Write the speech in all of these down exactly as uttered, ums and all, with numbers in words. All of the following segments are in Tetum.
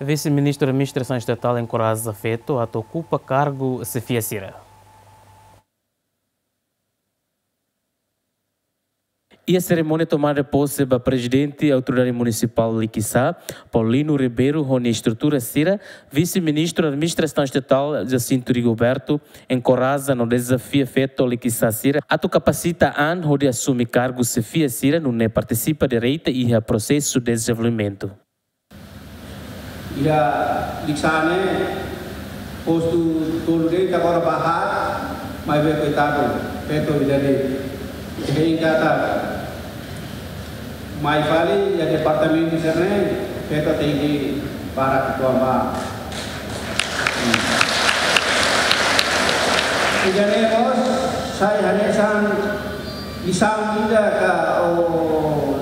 Vise-Ministru Administrasaun Estatál enkoraja feto atu okupa kargu xefia sira. Iha serimónia tomada de posse ba Prezidente Autoridade Munisipál Likisá, Paulino Ribeiro, ho nia estrutura sira, Vise-Ministru Administrasaun Estatál Jacinto Rigoberto enkoraja no dezafia feto Likisá sira atu kapasita an hodi asume kargu xefia sira nune'e partisipa direta iha prosesu dezenvolvimentu. Iha Likisá ne'e, postu tolu de'it agora ba haat, maibé koitadu, feto ida de'it. Ida-ne'e katak mai fali iha departamentu sira-ne'e, feto tenke barak uitoan ba. Ida-ne'e mós sai hanesan lisaun ida ka, ou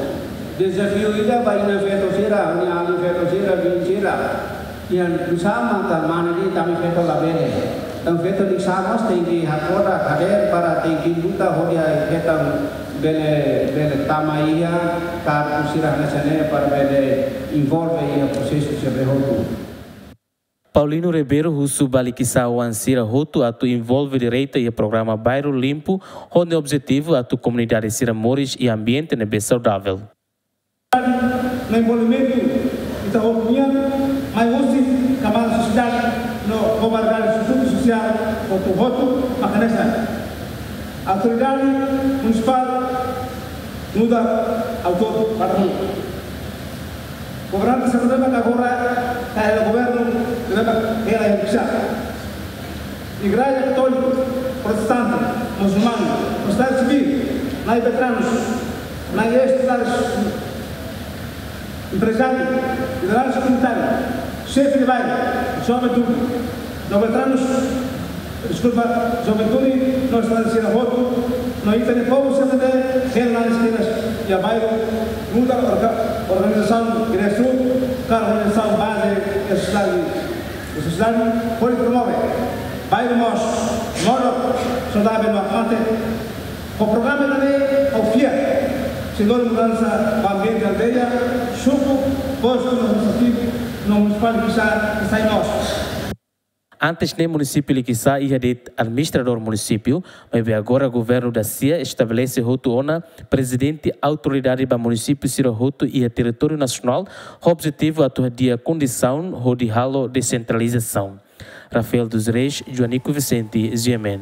dezafiu ida ba inan feto sira, nia alin feto sira, biin sira. Iha lisaun maka mane de'it ami feto labele. Entaun feto Likisá mós tenke hakfodak hadeer para tenke luta hodi ai feto bele, bele tama iha kargu sira hanesan ne'e para bele envolve iha prosesu sira hotu. Paulino Ribeiro husu ba Likisá oan sira hotu atu envolve direta iha programa Bairru Limpu, ho nia objetivu atu komunidade sira moris iha ambiente ne'ebé saudavel. No envolvimentu ita hotu nian, mai husi kamada sosiedade no komunidade sosiál hotu-hotu maka hanesan. Autoridade Munisipál nu'udar autór para hulu. Governante sira ne'ebé agora ka hela governu, ne'ebé hela iha Likisá. Igreja Katólika, Protestante, Musulmanu, sosiedade sivíl, nai veteranus, nai ex-sosiedade, emprezáriu, lideransa komunitária, xefe de bairru, juventude, no veteranus, deskulpa, juventude, no estudante sira hotu, no ita-nia povu sira ne'ebé hela nanis kedas iha bairru, nu'udar orga-, organizasaun grassroots, ka organizasaun baze, sosiedade, sosiedade, hodi promove bairru mós modo saudavel no akmate. Ho programa ida-ne'e ha'u fiar sei lori mudansa ba ambiente aldeia, suku, postu administrativu no munisipál Likisá, Likisá mós. Antes ne'e munisípiu Likisá iha de'it administradór munisípiu, maibé agora governu dasia estabelese hotu ona prezidente autoridade ba munisípiu sira hotu iha territóriu nasionál, ho objetivu atu hadi'a kondisaun hodi halo desentralizasaun. Rafael dos Reis, Joanico Vicente, G M N.